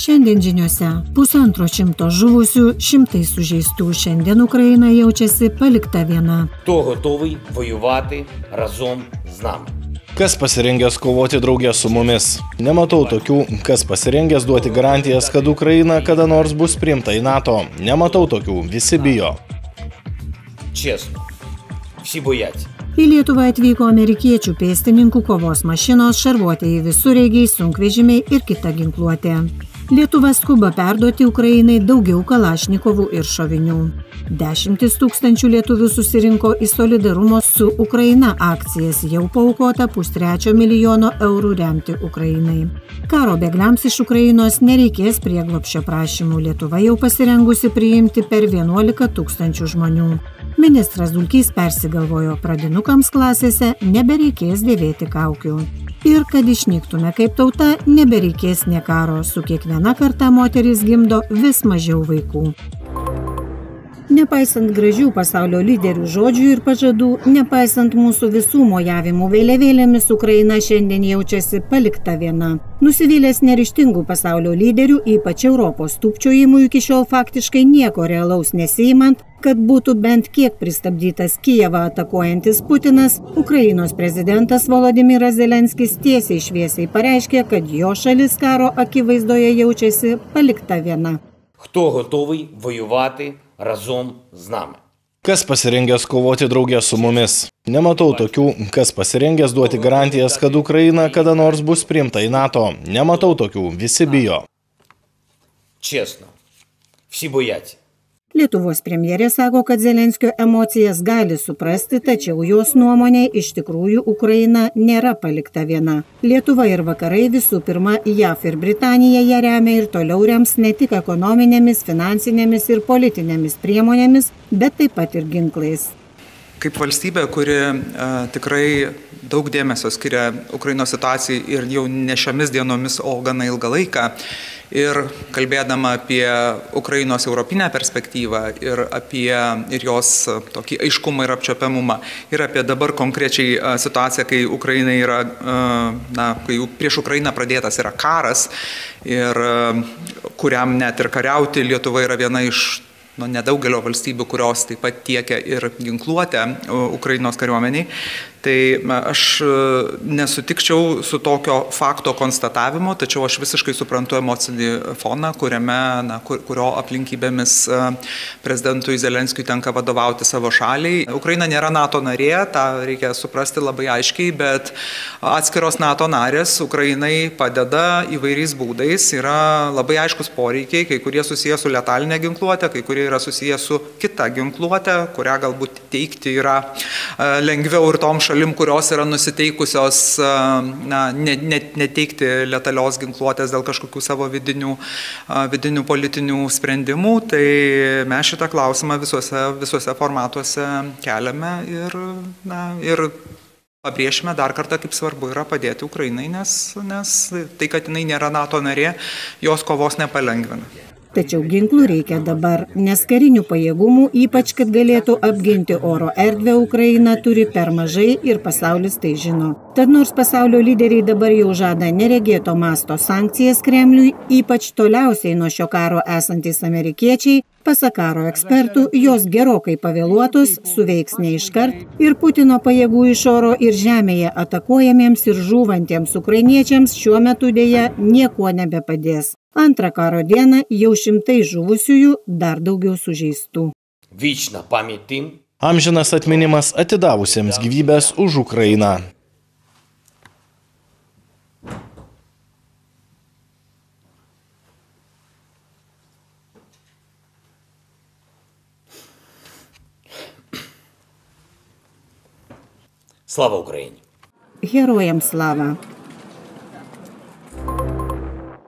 Šiandien žiniuose 150 žuvusių, šimtai sužeistų. Šiandien Ukraina jaučiasi palikta viena. Хто готовий воювати разом з нами? Kas pasirengęs kovoti drauge su mumis? Nematau tokių, kas pasirengęs duoti garantijas, kad Ukraina kada nors bus priimta į NATO. Nematau tokių, visi bijo. Чесно, всі бояться. Į Lietuvą atvyko amerikiečių pėstininkų kovos mašinos, šarvuotieji visureigiai, sunkvežimiai ir kita ginkluotė. Lietuva skuba perduoti Ukrainai daugiau kalašnikovų ir šovinių. 10 000 lietuvių susirinko į solidarumo su Ukraina akcijas, jau paaukota 1,3 milijono eurų remti Ukrainai. Karo bėgliams iš Ukrainos nereikės prieglobsčio prašymų. Lietuva jau pasirengusi priimti per 11 000 žmonių. Ministras Dulkys persigalvojo, pradinukams klasėse nebereikės dėvėti kaukių. Ir kad išnyktume kaip tauta, nebereikės nė karo. Su kiekviena karta moterys gimdo vis mažiau vaikų. Nepaisant gražių pasaulio lyderių žodžių ir pažadų, nepaisant mūsų visų mojavimų vėliavėlėmis, Ukraina šiandien jaučiasi palikta viena. Nusivylęs neryžtingų pasaulio lyderių, ypač Europos tūpčiojimų iki šiol faktiškai nieko realaus nesiimant, kad būtų bent kiek pristabdytas Kijevą atakuojantis Putinas, Ukrainos prezidentas Volodymyras Zelenskis tiesiai šviesiai pareiškė, kad jo šalis karo akivaizdoje jaučiasi palikta viena. Хто готовий воювати разом з нами? Kas pasirengęs kovoti drauge su mumis? Nematau tokių, kas pasirengęs duoti garantijas, kad Ukraina kada nors bus priimta į NATO. Nematau tokių, visi bijo. Чесно, всі бояться. Lietuvos premjerė sako, kad Zelenskio emocijas gali suprasti, tačiau jos nuomonė iš tikrųjų Ukraina nėra palikta viena. Lietuva ir vakarai, visų pirma, JAV ir Britanija ją remia ir toliau rems ne tik ekonominėmis, finansinėmis ir politinėmis priemonėmis, bet taip pat ir ginklais. Kaip valstybė, kuri tikrai daug dėmesio skiria Ukrainos situacijai ir jau ne šiomis dienomis, o gana ilgą laiką, ir kalbėdama apie Ukrainos europinę perspektyvą ir jos tokį aiškumą ir apčiopiamumą, ir apie dabar konkrečiai situaciją, kai Ukraina yra, kai prieš Ukrainą pradėtas yra karas ir kuriam net ir kariauti Lietuva yra viena iš nedaugelio valstybių, kurios taip pat tiekia ir ginkluotę Ukrainos kariuomeniai. Tai aš nesutikčiau su tokio fakto konstatavimu, tačiau aš visiškai suprantu emocinį foną, kurio aplinkybėmis prezidentui Zelenskiui tenka vadovauti savo šaliai. Ukraina nėra NATO narė, tą reikia suprasti labai aiškiai, bet atskiros NATO narės Ukrainai padeda įvairiais būdais. Yra labai aiškus poreikiai, kai kurie susiję su letalinė ginkluotė, kai kurie yra susiję su kita ginkluotė, kurią galbūt teikti yra lengviau ir tom šalim, kurios yra nusiteikusios neteikti letalios ginkluotės dėl kažkokių savo vidinių politinių sprendimų. Tai mes šitą klausimą visuose formatuose keliame ir pabrėšime dar kartą, kaip svarbu yra padėti Ukrainai, nes tai, kad jinai nėra NATO narė, jos kovos nepalengvina. Tačiau ginklų reikia dabar, nes karinių pajėgumų, ypač kad galėtų apginti oro erdvę, Ukraina turi per mažai ir pasaulis tai žino. Tad nors pasaulio lyderiai dabar jau žada neregėto masto sankcijas Kremliui, ypač toliausiai nuo šio karo esantys amerikiečiai, pasak karo ekspertų, jos gerokai pavėluotos, suveiks ne iškart ir Putino pajėgų iš oro ir žemėje atakuojamiems ir žūvantiems ukrainiečiams šiuo metu dėja niekuo nebepadės. Antrą karo dieną jau šimtai žuvusiųjų, dar daugiau sužeistų. Вічна пам'ять тим. Amžinas atminimas atidavusiems gyvybės už Ukrainą. Слава Україні! Herojams slava!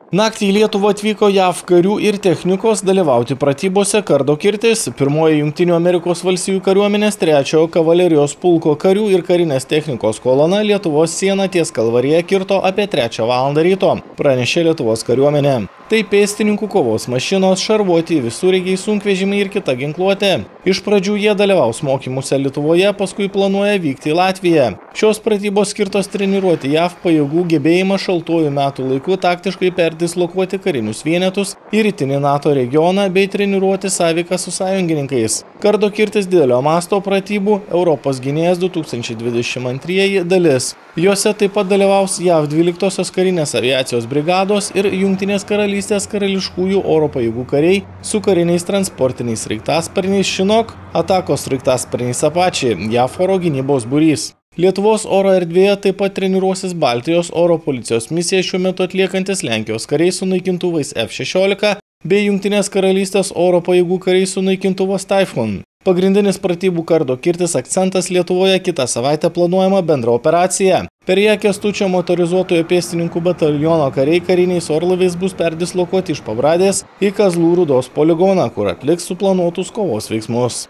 Naktį į Lietuvą atvyko JAV karių ir technikos dalyvauti pratybose Kardo kirtis, pirmoji Jungtinių Amerikos valstijų kariuomenės 3-ojo kavalerijos pulko karių ir karinės technikos kolona Lietuvos sieną ties Kalvarija kirto apie 3 valandą ryto, pranešė Lietuvos kariuomenė. Tai pėstininkų kovos mašinos, šarvuoti visureigiai, sunkvežimiai ir kita ginkluotė. Iš pradžių jie dalyvaus mokymuose Lietuvoje, paskui planuoja vykti į Latviją. Šios pratybos skirtos treniruoti JAV pajėgų gebėjimą šaltuoju metų laiku taktiškai perdislokuoti karinius vienetus į rytinį NATO regioną bei treniruoti sąveiką su sąjungininkais. Kardo kirtis didelio masto pratybų Europos gynėjas 2022 dalis. Jose taip pat dalyvaus JAV 12-osios karinės aviacijos brigados ir Jungtinės karalystės karališkųjų oro pajėgų kariai su kariniais transportiniais sraigtasparniais Chinook, atakos sraigtasparniais Apache, JAV oro gynybos būrys. Lietuvos oro erdvėje taip pat treniruosis Baltijos oro policijos misiją šiuo metu atliekantis Lenkijos kariai su naikintuvais F-16 bei Jungtinės karalystės oro pajėgų kariai su naikintuvas Typhoon. Pagrindinis pratybų kardo kirtis akcentas Lietuvoje kitą savaitę planuojama bendra operacija. Per ją Kęstučio motorizuotojo pėstininkų bataliono kariai kariniais orlaiviais bus perdislokuoti iš Pabradės į Kazlų Rūdos poligoną, kur atliks suplanuotus kovos veiksmus.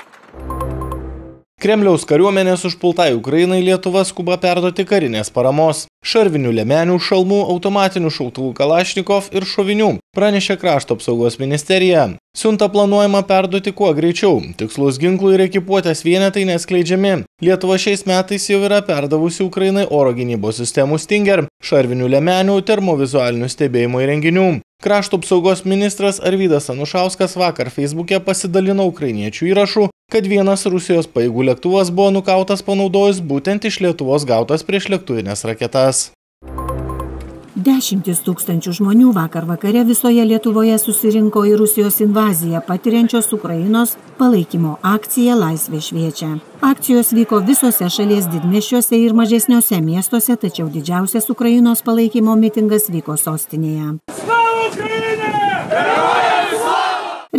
Kremliaus kariuomenės užpultai Ukrainai Lietuva skuba perduoti karinės paramos. Šarvinių liemenių, šalmų, automatinių šautuvų Kalašnikov ir šovinių, pranešė Krašto apsaugos ministerija. Siuntą planuojama perduoti kuo greičiau. Tikslus ginklų ir ekipuotės vienetai neskleidžiami. Lietuva šiais metais jau yra perdavusi Ukrainai oro gynybos sistemų Stinger, šarvinių liemenių, termovizualinių stebėjimo įrenginių. Krašto apsaugos ministras Arvydas Anušauskas vakar Facebook'e pasidalino ukrainiečių įrašų, kad vienas Rusijos pajėgų lėktuvas buvo nukautas panaudojus būtent iš Lietuvos gautas priešlėktuvinės raketas. Dešimtis tūkstančių žmonių vakar vakare visoje Lietuvoje susirinko į Rusijos invaziją patiriančios Ukrainos palaikymo akciją Laisvė šviečia. Akcijos vyko visose šalies didmiesčiuose ir mažesniuose miestuose, tačiau didžiausias Ukrainos palaikymo mitingas vyko sostinėje.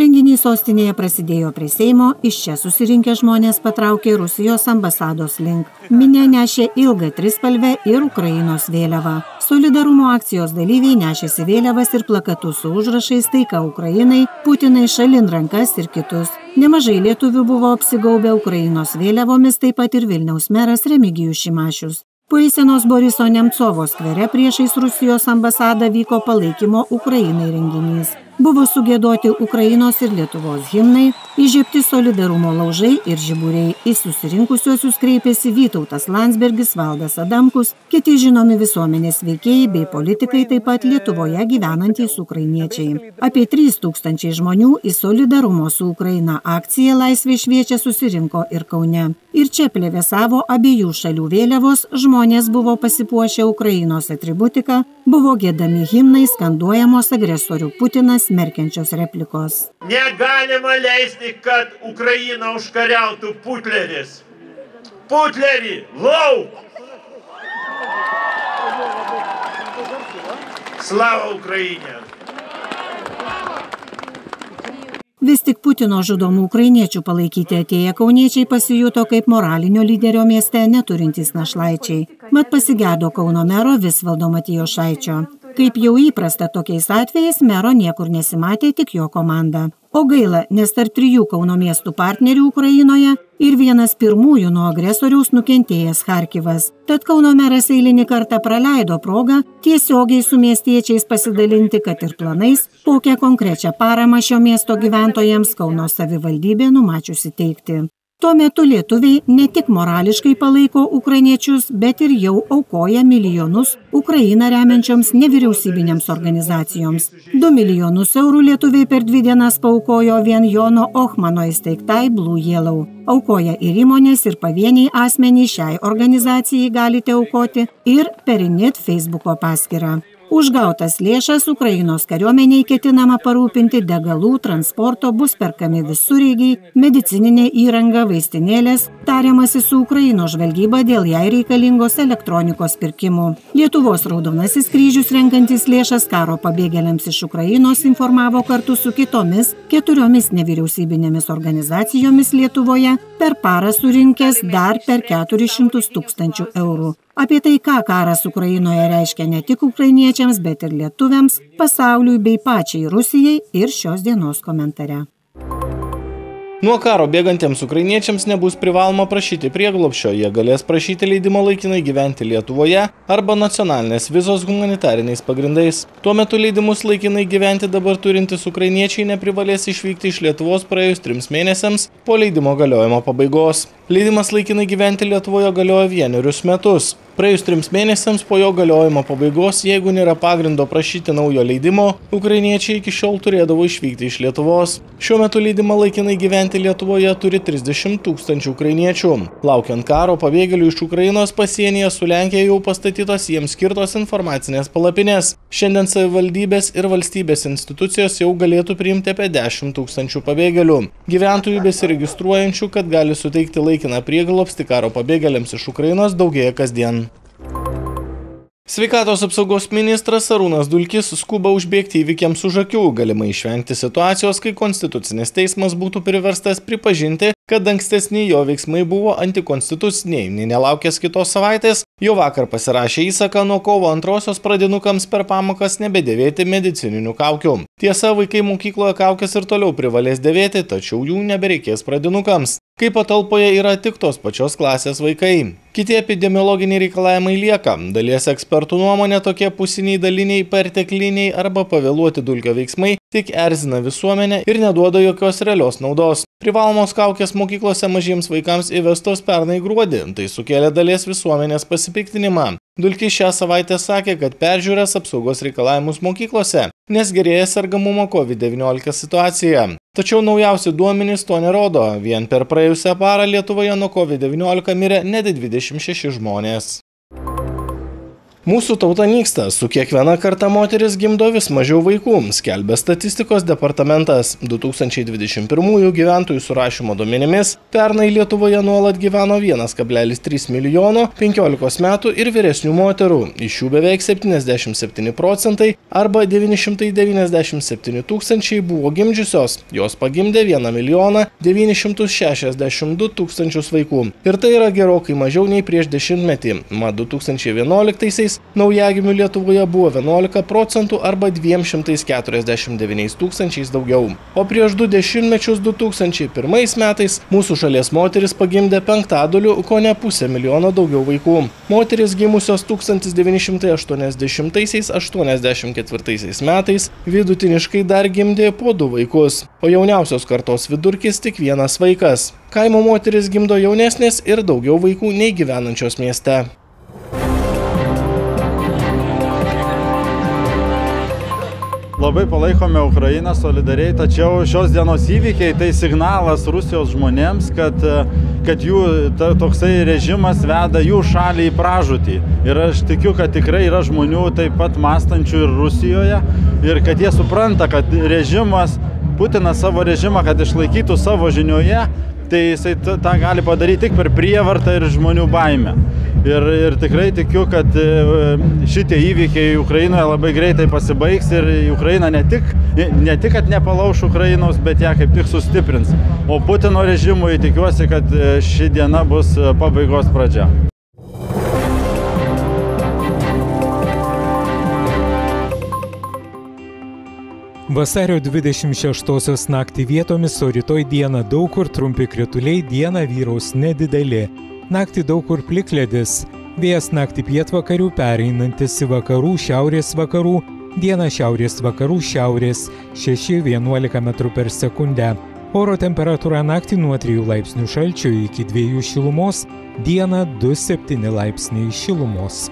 Renginys sostinėje prasidėjo prie Seimo, iš čia susirinkę žmonės patraukė Rusijos ambasados link. Minia nešė ilgą trispalvę ir Ukrainos vėliavą. Solidarumo akcijos dalyviai nešėsi vėliavas ir plakatus su užrašais Taika Ukrainai, Putinai šalin rankas ir kitus. Nemažai lietuvių buvo apsigaubę Ukrainos vėliavomis, taip pat ir Vilniaus meras Remigijus Šimašius. Po eisenos Boriso Nemcovo skvere priešais Rusijos ambasadą vyko palaikymo Ukrainai renginys. Buvo sugiedoti Ukrainos ir Lietuvos himnai, įžiebti solidarumo laužai ir žiburiai. Į susirinkusiuosius kreipėsi Vytautas Landsbergis, Valdas Adamkus, kiti žinomi visuomenės veikėjai bei politikai, taip pat Lietuvoje gyvenantys ukrainiečiai. Apie 3000 žmonių į solidarumo su Ukraina akciją Laisvė šviečia susirinko ir Kaune. Ir čia plevėsavo abiejų šalių vėliavos, žmonės buvo pasipuošę Ukrainos atributiką, buvo giedami himnai, skanduojamos agresorių Putinas smerkiančios replikos. Negalima leisti, kad Ukraina užkariautų Putleris. Putlerį, lauk! Slava Ukrainė! Vis tik Putino žudomų ukrainiečių palaikyti atėję kauniečiai pasijuto kaip moralinio lyderio mieste neturintys našlaičiai. Mat pasigėdo Kauno mero Visvaldo Matijošaičio. Kaip jau įprasta tokiais atvejais, mero niekur nesimatė, tik jo komanda. O gaila, nes tarp 3 Kauno miestų partnerių Ukrainoje ir vienas pirmųjų nuo agresoriaus nukentėjęs Charkivas. Tad Kauno meras eilinį kartą praleido progą tiesiogiai su miestiečiais pasidalinti, kad ir planais, kokią konkrečią paramą šio miesto gyventojams Kauno savivaldybė numačiusi teikti. Tuo metu lietuviai ne tik morališkai palaiko ukrainiečius, bet ir jau aukoja milijonus Ukrainą remiančioms nevyriausybinėms organizacijoms. 2 milijonus eurų lietuviai per 2 dienas paaukojo vien Jono Ochmano įsteigtai Blue Yellow. Aukoja ir įmonės, ir pavieniai asmenys šiai organizacijai galite aukoti ir per Init Facebooko paskyrą. Už gautas lėšas Ukrainos kariuomeniai ketinama parūpinti degalų, transporto, bus perkami visureigiai, medicininė įranga, vaistinėlės, tariamasi su Ukrainos žvalgyba dėl jai reikalingos elektronikos pirkimų. Lietuvos Raudonasis kryžius renkantis lėšas karo pabėgėliams iš Ukrainos informavo kartu su kitomis 4 nevyriausybinėmis organizacijomis Lietuvoje per parą surinkęs dar per 400 000 eurų. Apie tai, ką karas Ukrainoje reiškia ne tik ukrainiečiams, bet ir lietuviams, pasauliui bei pačiai Rusijai ir šios dienos komentare. Nuo karo bėgantiems ukrainiečiams nebus privaloma prašyti prieglobsčio, jie galės prašyti leidimo laikinai gyventi Lietuvoje arba nacionalinės vizos humanitariniais pagrindais. Tuo metu leidimus laikinai gyventi dabar turintys ukrainiečiai neprivalės išvykti iš Lietuvos praėjus 3 mėnesiams po leidimo galiojimo pabaigos. Leidimas laikinai gyventi Lietuvoje galioja 1 metus. Praėjus 3 mėnesiams po jo galiojimo pabaigos, jeigu nėra pagrindo prašyti naujo leidimo, ukrainiečiai iki šiol turėdavo išvykti iš Lietuvos. Šiuo metu leidimą laikinai gyventi Lietuvoje turi 30 000 ukrainiečių. Laukiant karo, pabėgėlių iš Ukrainos pasienyje su Lenkija jau pastatytos jiems skirtos informacinės palapinės. Šiandien savivaldybės ir valstybės institucijos jau galėtų priimti apie 10 000 pabėgėlių. Gyventojų besiregistruojančių, kad gali suteikti laikiną prieglobstį karo pabėgėliams iš Ukrainos, daugėja kasdien. Sveikatos apsaugos ministras Arūnas Dulkis skuba užbėgti įvykiams už akių, galimai išvengti situacijos, kai Konstitucinis teismas būtų priverstas pripažinti, kad ankstesni jo veiksmai buvo antikonstituciniai, nei nelaukęs kitos savaitės, jau vakar pasirašė įsaką nuo kovo 2 pradinukams per pamokas nebedėvėti medicininių kaukių. Tiesa, vaikai mokykloje kaukės ir toliau privalės dėvėti, tačiau jų nebereikės pradinukams, kai patalpoje yra tik tos pačios klasės vaikai. Kiti epidemiologiniai reikalavimai lieka. Dalies ekspertų nuomonė tokie pusiniai, daliniai, pertekliniai arba pavėluoti Dulkio veiksmai tik erzina visuomenę ir neduoda jokios realios naudos. Privalomos kaukės mokyklose mažiems vaikams įvestos pernai gruodį, tai sukėlė dalies visuomenės pasipiktinimą. Dulkis šią savaitę sakė, kad peržiūrės apsaugos reikalavimus mokyklose, nes gerėja sergamumo COVID-19 situacija. Tačiau naujausi duomenys to nerodo. Vien per praėjusią parą Lietuvoje nuo COVID-19 mirė net 26 žmonės. Mūsų tauta nyksta, su kiekviena karta moteris gimdo vis mažiau vaikų, skelbia statistikos departamentas. 2021 gyventojų surašymo duomenimis pernai Lietuvoje nuolat gyveno 1,3 milijono 15 metų ir vyresnių moterų. Iš jų beveik 77% arba 997 000 buvo gimdžiusios. Jos pagimdė 1 milijoną 962 000 vaikų. Ir tai yra gerokai mažiau nei prieš dešimtmetį. Mat 2011 naujagimių Lietuvoje buvo 11% arba 249 000 daugiau. O prieš 2 dešimtmečius 2001 metais mūsų šalies moteris pagimdė 500, ko ne 500 000 daugiau vaikų. Moteris gimusios 1980–84 metais vidutiniškai dar gimdė po 2 vaikus, o jauniausios kartos vidurkis tik 1 vaikas. Kaimo moteris gimdo jaunesnės ir daugiau vaikų nei gyvenančios mieste. Labai palaikome Ukrainą solidariai, tačiau šios dienos įvykiai tai signalas Rusijos žmonėms, kad jų toksai režimas veda jų šalį į pražūtį. Ir aš tikiu, kad tikrai yra žmonių taip pat mąstančių ir Rusijoje ir kad jie supranta, kad režimas, Putinas savo režimą, kad išlaikytų savo žinioje, tai jisai tą gali padaryti tik per prievartą ir žmonių baimę. Ir tikrai tikiu, kad šitie įvykiai Ukrainoje labai greitai pasibaigs ir Ukraina ne tik, kad nepalauš Ukrainos, bet ją kaip tik sustiprins. O Putino režimui tikiuosi, kad ši diena bus pabaigos pradžia. Vasario 26 naktį vietomis, o rytoj dieną daug kur trumpi krituliai, dieną vyraus nedideli. Naktį daug kur plikledis. Vėjas naktį pietvakarių pereinantis į vakarų, šiaurės vakarų, dieną šiaurės vakarų, šiaurės 6–11 m/s. Oro temperatūra naktį nuo 3 laipsnių šalčio iki 2 šilumos, dieną 2–7 laipsniai šilumos.